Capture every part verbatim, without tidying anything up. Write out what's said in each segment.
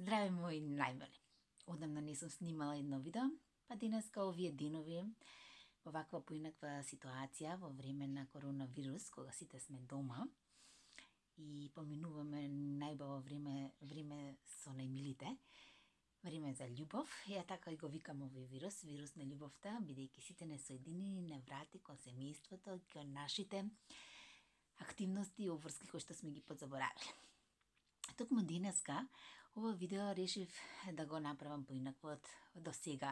Здраве мои најмили. Одамна не сум снимала едно видео, па денеска овие денови во ваква поинаква ситуација во време на коронавирус, кога сите сме дома и поминуваме најбаво време, време со најмилите, време за љубов. Ја така и го викам овој вирус, вирус на љубовта, бидејќи сите не соединени не врати кон семејството, кон нашите активности и обврски кои што сме ги подзаборавиле. Токму денеска ова видео решив да го направам поинакво од до сега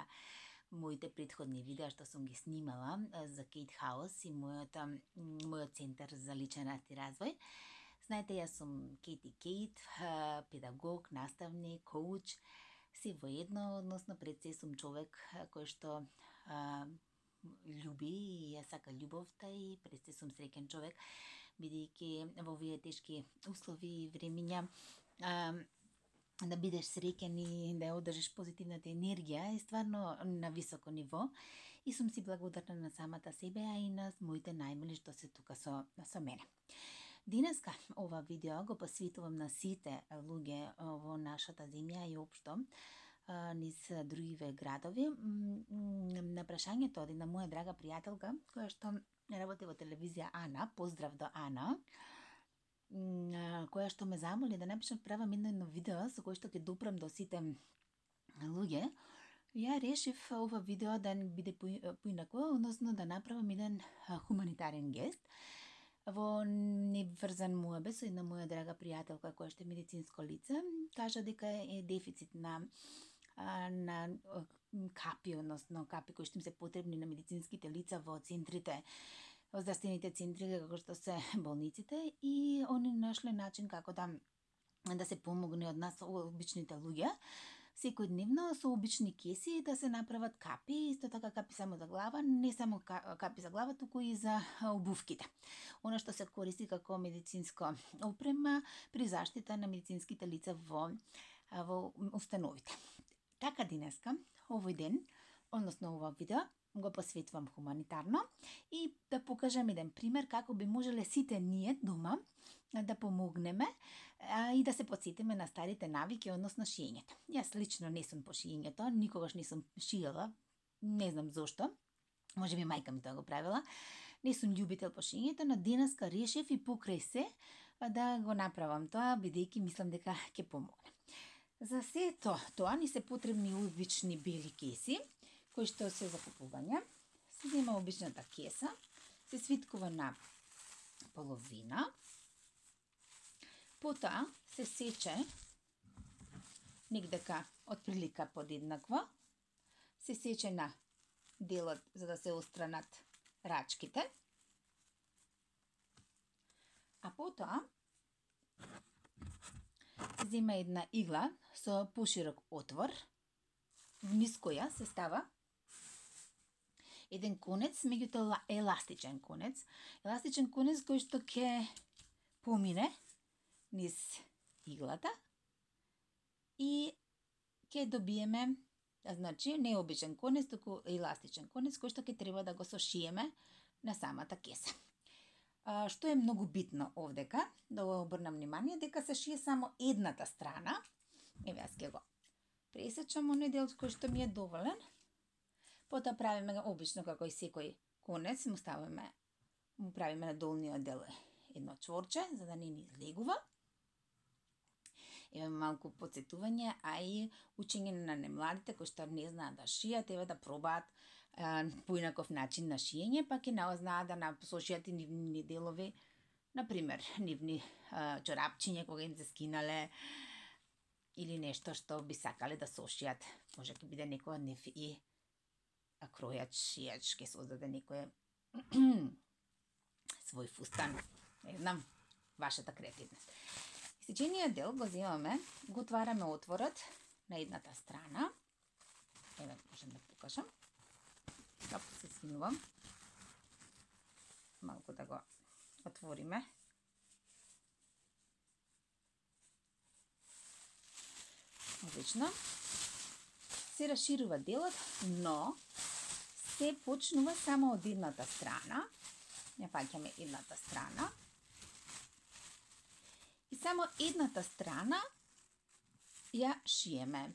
моите претходни видеа што сум ги снимала за Кейт Хаус и мојот, мојот центар за личен раст и развој. Знаете, јас сум Кейти Кейт, педагог, наставник, коуч, се во едно, односно пред се сум човек кој што а, љуби и ја сака љубовта и пред се сум среќен човек, бидејќи во овие тешки услови и времиња а, да бидеш среќен и да ја одржиш позитивната енергија е стварно на високо ниво и сум си благодарна на самата себе, а и на моите најмили што се тука со, со мене. Денеска ова видео го посветувам на сите луѓе во нашата земја и општо низ другиве градови. На прашањето од една моја драга пријателка, која што работи во телевизија Ана, поздрав до Ана, која што ме замоли да напишам правам едно едно видео со кој што ќе допрам до сите луѓе, ја решив ова видео да биде поинакво, односно да направам еден хуманитарен гест во неврзан муабе со една моја драга пријателка која што е медицинско лице. Кажа дека е дефицит на на капи, односно капи кои што им се потребни на медицинските лица во центрите, во здравствените центри како што се болниците, и они нашле начин како да да се помогне од нас обичните луѓе секојдневно со обични кеси да се направат капи, исто така капи само за глава, не само капи за глава, туку и за обувките. Она што се користи како медицинско опрема при заштита на медицинските лица во во установите. Така денеска, овој ден, односно ова видео, го посветувам хуманитарно и да покажам еден пример како би можеле сите ние дома да помогнеме а, и да се подсетиме на старите навики, односно шиењето. Јас лично не сум по шиењето, никогаш не сум шиела, не знам зошто, може би мајка ми тоа го правила. Не сум љубител по шиењето, но денеска решив и покрај се да го направам тоа, бидејќи мислам дека ќе помогне. За сето тоа ни се потребни обични бели кеси, кои што се за купување. Се зема обичната кеса, се свиткува на половина, потоа се сече негдека отприлика подеднакво, се сече на делот за да се остранат рачките, а потоа се зема една игла со поширок отвор, вниз која се става еден конец, меѓутоа еластичен конец, еластичен конец кој што ќе помине низ иглата и ќе добиеме, значи, не обичен конец, туку еластичен конец кој што ќе треба да го сошиеме на самата кеса. А, што е многу битно овдека, да го обрнам внимание, дека се шие само едната страна. Еве, јас ќе го пресечам оној дел кој што ми е доволен. Потоа правиме обично како и секој конец, му ставиме, му правиме на долниот дел едно чворче, за да не ни излегува. Еве малку подсетување, а и учење на немладите кои што не знаат да шијат, еве да пробаат а, поинаков начин на шиење, па ќе знаат да сошијат и нивни делови, например, нивни а, чорапчиња кога им се скинале, или нешто што би сакале да сошијат. Може ќе биде некој од нив и кројач, шијач, ќе создаде некој свој фустан. Не знам, вашата креативност. Сечениот дел го земаме, го отвараме отворот на едната страна. Еве, можем да покажам. Капо се свинувам. Малку да го отвориме. Одлично. Се расширува делот, но се почнува само од едната страна. Ја фаќаме едната страна. И само едната страна ја шиеме,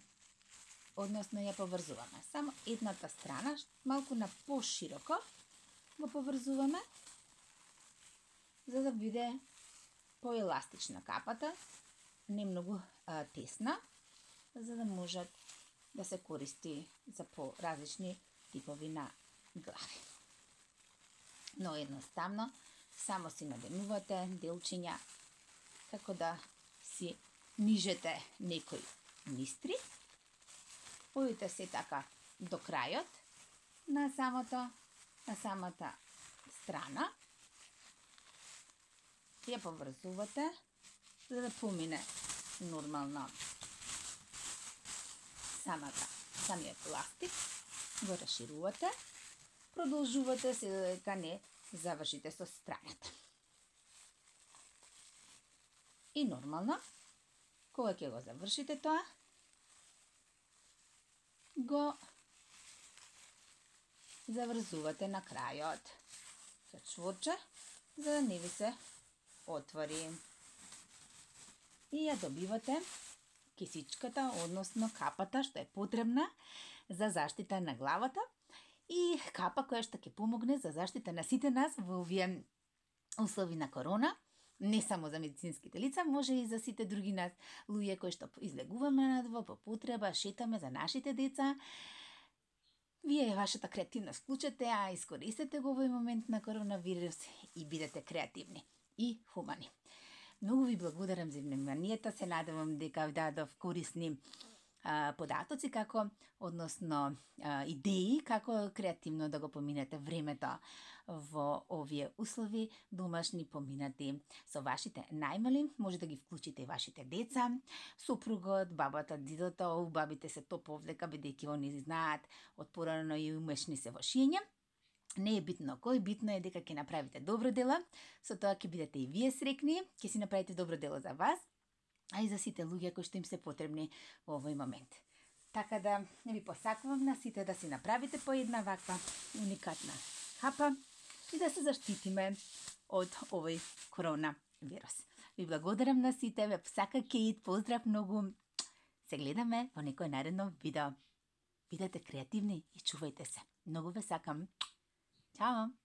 односно ја поврзуваме. Само едната страна, малку на пошироко, го поврзуваме, за да биде поеластична капата, не многу а, тесна, за да можат да се користи за по-различни типови на глави. Но едноставно, само си наденувате делчиња, како да си нижете некој мистри. Одите се така до крајот на самото, на самата страна. Ја поврзувате, за да помине нормално самата, самиот ластик, го расширувате, продолжувате се дека не завршите со страната. И нормално, кога ќе го завршите тоа, го заврзувате на крајот со чворче, за да не ви се отвори. И ја добивате кисичката, односно капата, што е потребна за заштита на главата и капа која што ќе помогне за заштита на сите нас во овие услови на корона, не само за медицинските лица, може и за сите други нас луѓе кои што излегуваме надво по потреба, шетаме за нашите деца. Вие вашата креативност вклучете, а искористете го овој момент на коронавирус и бидете креативни и хумани. Многу ви благодарам за вниманието, се надевам дека ви дадов корисни а, податоци, како, односно а, идеи, како креативно да го поминете времето во овие услови, домашни поминати со вашите најмали, може да ги вклучите и вашите деца, сопругот, бабата, дидото, бабите се то повлека, бидејќи они знаат од порано и умешни се во шиење. Не е битно кој, битно е дека ќе направите добро дело, со тоа ќе бидете и вие срекни, ќе си направите добро дело за вас, а и за сите луѓе кои што им се потребни во овој момент. Така да ви посакувам на сите да си направите по една ваква уникатна капа и да се заштитиме од овој коронавирус. Ви благодарам на сите, ве посака Кейт, поздрав многу. Се гледаме во некој наредно видео. Бидете креативни и чувајте се. Многу ве сакам. Ćao!